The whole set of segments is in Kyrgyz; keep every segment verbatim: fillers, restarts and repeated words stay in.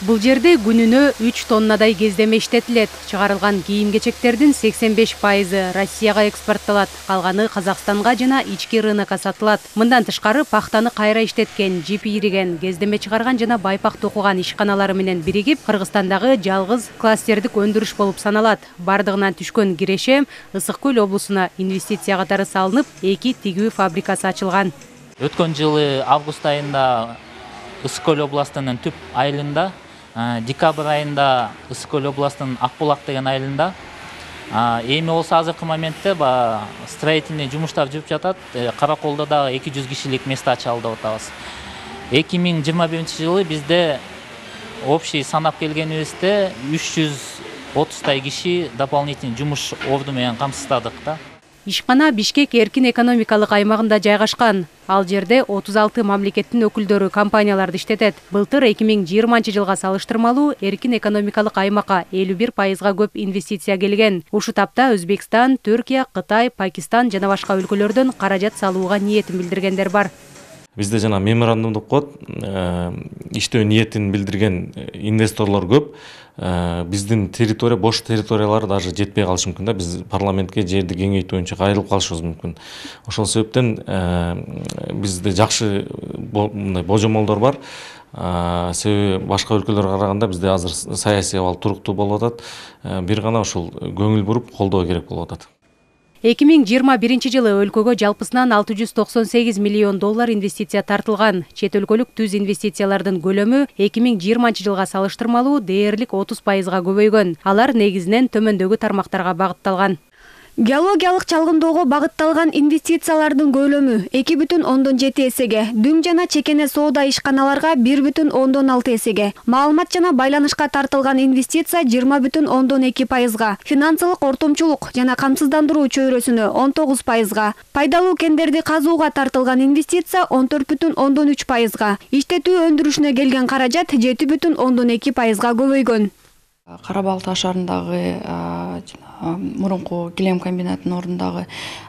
Бул жерде күнүнө үч тоннадай кездеме иштетилет. Чыгарылган кийим-кечектердин сексен беш пайызы Россияга экспорттолот, калганы Казакстанга жана ички рынокко сатылат. Мындан тышкары пахтаны кайра иштеткен, жип ийриген, кездеме чыгарган жана байпак токуган ишканалары менен биригип, Кыргызстандагы жалгыз кластердик өндүрүш болуп саналат. Бардыгынан түшкөн кирешем Ысык Көл облусуна инвестиция катары салынып, эки тигүү фабрикасы ачылган. Өткөн жылы август айында Ысык Көл областынын түп айылында, декабрь айында Ысык Көл областынын Акбулак деген айылында, эми болсо азыркы моментте строительный жумуштар жүрүп жатат. Караколдо да эки жүз кишилик место ачалы деп атабыз. эки миң жыйырма биринчи жылы бизде общий санап келгенибизде үч жүз отуздай киши дополнительный жумуш орду менен камсыздадык да. Ишкана Бишкек эркин экономикалык аймагында жайгашкан. Ал жерде отуз алты мамлекеттин өкүлдөрү компанияларды иштетет. Былтыр эки миң жыйырманчы жылга салыштырмалуу эркин экономикалык аймакка элүү бир пайызга көп инвестиция келген. Ушу тапта Өзбекстан, Түркия, Кытай, Пакистан жана башка өлкөлөрдөн каражат салууга ниетин билдиргендер бар. Бизде жана меморандум деп коет, иштөө ниетин билдирген инвесторлор көп. Биздин территория, бош территориялар даже жетпей калышы мүмкүн да. Биз парламентке жерди кеңейтүү боюнча кайрылып калышыбыз мүмкүн. Ошол себептен бизде жакшы мындай божомолдор бар. Себеби башка өлкөлөргө караганда бизде азыр саясий абал туруктуу болуп атат. Бир гана ушул көңүл буруп колдоо керек болуп атат. эки миң жыйырма биринчи жылы өлкөгө жалпысынан алты жүз токсон сегиз миллион доллар инвестиция тартылган. Чет өлкөлүк түз инвестициялардын көлөмү эки миң жыйырманчы жылга салыштырмалуу дээрлик отуз пайызга көбөйгөн. Алар негизинен төмөндөгү тармактарга багытталган. Геологиялык чалгындоого багытталган инвестициялардын көлөмү эки бүтүн ондон жети эсеге, дүң жана чекене соода ишканаларга бир бүтүн ондон алты эсеге, маалымат жана байланышка тартылган инвестиция жыйырма бүтүн ондон эки пайызга, финансылык ортомчулук жана камсыздандыруу чөйрөсүнө он тогуз пайызга, пайдалуу кендерди казууга тартылган инвестиция он төрт бүтүн ондон үч пайызга, иштетүү өндүрүшүнө келген каражат жети бүтүн ондон эки пайызга көбөйгөн. Кара Балык шаарындагы мурунку килем комбинатынын ордундагы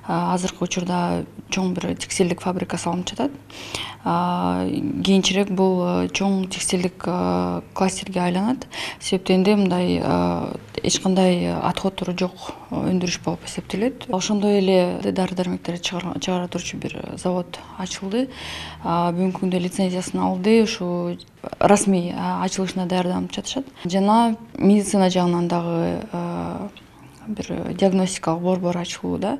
азыркы учурда чоң бир текстилдик фабрика салынып жатат. Кийинчерээк бул чоң текстилдик кластерге айланат. Себептенде мындай эч кандай отходтору жок өндүрүш болуп эсептелет. Ошондой эле дары-дармектерди чыгара турчу бир завод ачылды. Бүгүнкү күндө лицензиясын алды, ушу расмий ачылышына даярданып жатышат. Жана медицина жагынан дагы бир диагностикалык борбор ачылууда.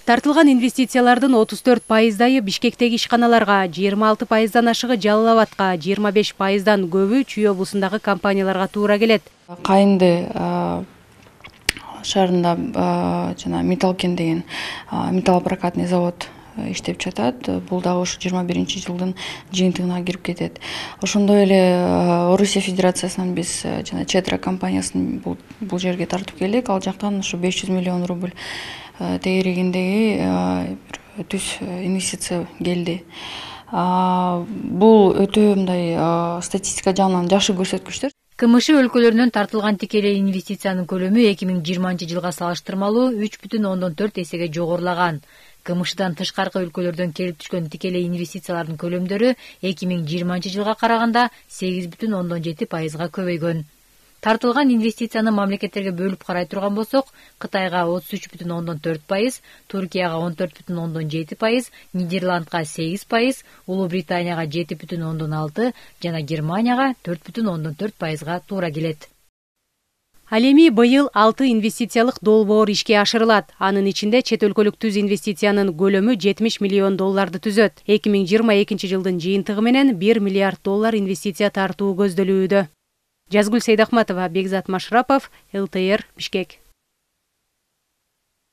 Тартылган инвестициялардын отуз төрт пайыздайы Бишкектеги ишканаларга, жыйырма алты пайыздан ашыгы Жалал Абадка, жыйырма беш пайыздан көбү Чүй облусундагы компанияларга туура келет. Кайынды шаарында жана Металлкен деген металлопрокатный завод иштеп жатат. Бул дагы ушу жыйырма биринчи жылдын жыйынтыгына кирип кетет. Ошондой эле Орусия Федерациясынан биз жана Четра компаниясын бул бул жерге тартып келдик. Ал жактан ушу беш жүз миллион рубль тегерегиндеги бир түз инвестиция келди. Бул өтө мындай статистика жагынан жакшы көрсөткүчтөр. КМШ өлкөлөрүнөн тартылган тикелей инвестициянын көлөмү эки миң жыйырманчы жылга салыштырмалуу үч бүтүн ондон төрт эсеге жогорулаган. КМШдан тышкаркы өлкөлөрдөн келип түшкөн тикелей инвестициялардын көлөмдөрү эки миң жыйырманчы жылга караганда сегиз бүтүн ондон жети пайызга көбөйгөн. Тартылган инвестицияны мамлекеттерге бөлүп карай турган болсок, Кытайга отуз үч бүтүн ондон төрт пайыз, Түркияга он төрт бүтүн ондон жети пайыз, Нидерландга сегиз пайыз, Улуу Британияга жети бүтүн ондон алты жана Германияга төрт бүтүн ондон төрт пайызга туура келет. Ал эми быйыл алты инвестициялык долбоор ишке ашырылат. Анын ичинде чет өлкөлүк түз инвестициянын көлөмү жетимиш миллион долларды түзөт. эки миң жыйырма экинчи жылдын жыйынтыгы менен бир миллиард доллар инвестиция тартуу көздөлүүдө. Жазгүл Сейдахматова, Бекзат Машрапов, эл тэ эр, Бишкек.